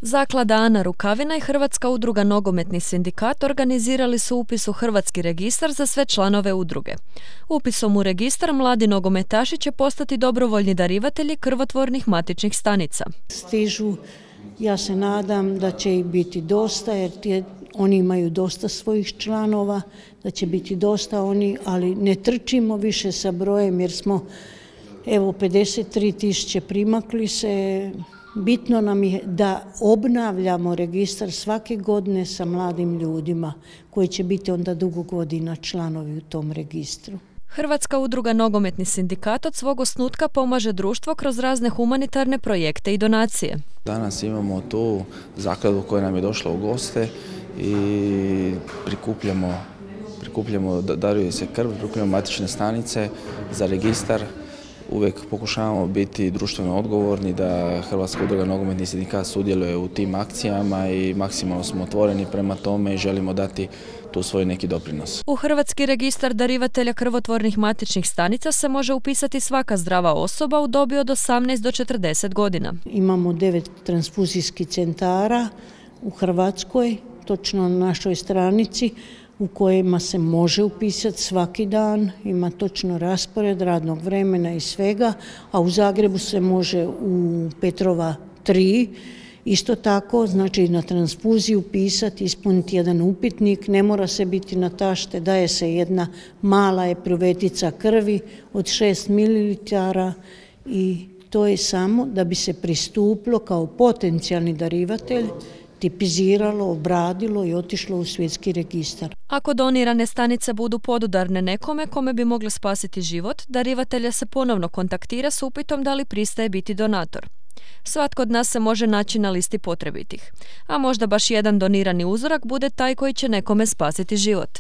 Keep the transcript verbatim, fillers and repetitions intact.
Zaklada Ana Rukavina i Hrvatska udruga Nogometni sindikat organizirali su upis u Hrvatski registar za sve članove udruge. Upisom u registar mladi nogometaši će postati dobrovoljni darivatelji krvotvornih matičnih stanica. Stižu, ja se nadam da će ih biti dosta jer tje, oni imaju dosta svojih članova, da će biti dosta oni, ali ne trčimo više sa brojem jer smo evo pedeset tri tisuće primakli se. Bitno nam je da obnavljamo registar svake godine sa mladim ljudima koji će biti onda dugo godina članovi u tom registru. Hrvatska udruga Nogometni sindikat od svog osnutka pomaže društvo kroz razne humanitarne projekte i donacije. Danas imamo tu zakladu koja nam je došla u goste i prikupljamo, prikupljamo daruje se krv, prikupljamo matične stanice za registar. Uvijek pokušavamo biti društveno odgovorni, da Hrvatska udruga Nogometni sindikat sudjeluje u tim akcijama i maksimalno smo otvoreni prema tome i želimo dati tu svoj neki doprinos. U Hrvatski registar darivatelja krvotvornih matičnih stanica se može upisati svaka zdrava osoba u dobi od osamnaest do četrdeset godina. Imamo devet transfuzijskih centara u Hrvatskoj, točno na našoj stranici, u kojima se može upisati svaki dan, ima točno raspored radnog vremena i svega, a u Zagrebu se može u Petrova tri, isto tako, znači na transfuziju upisati, ispuniti jedan upitnik, ne mora se biti na tašte, daje se jedna mala epruvetica krvi od šest mililitara i to je samo da bi se pristupilo kao potencijalni darivatelj, tipiziralo, obradilo i otišlo u svjetski registar. Ako donirane stanice budu podudarne nekome kome bi mogle spasiti život, darivatelja se ponovno kontaktira s upitom da li pristaje biti donator. Svatko od nas se može naći na listi potrebitih, a možda baš jedan donirani uzorak bude taj koji će nekome spasiti život.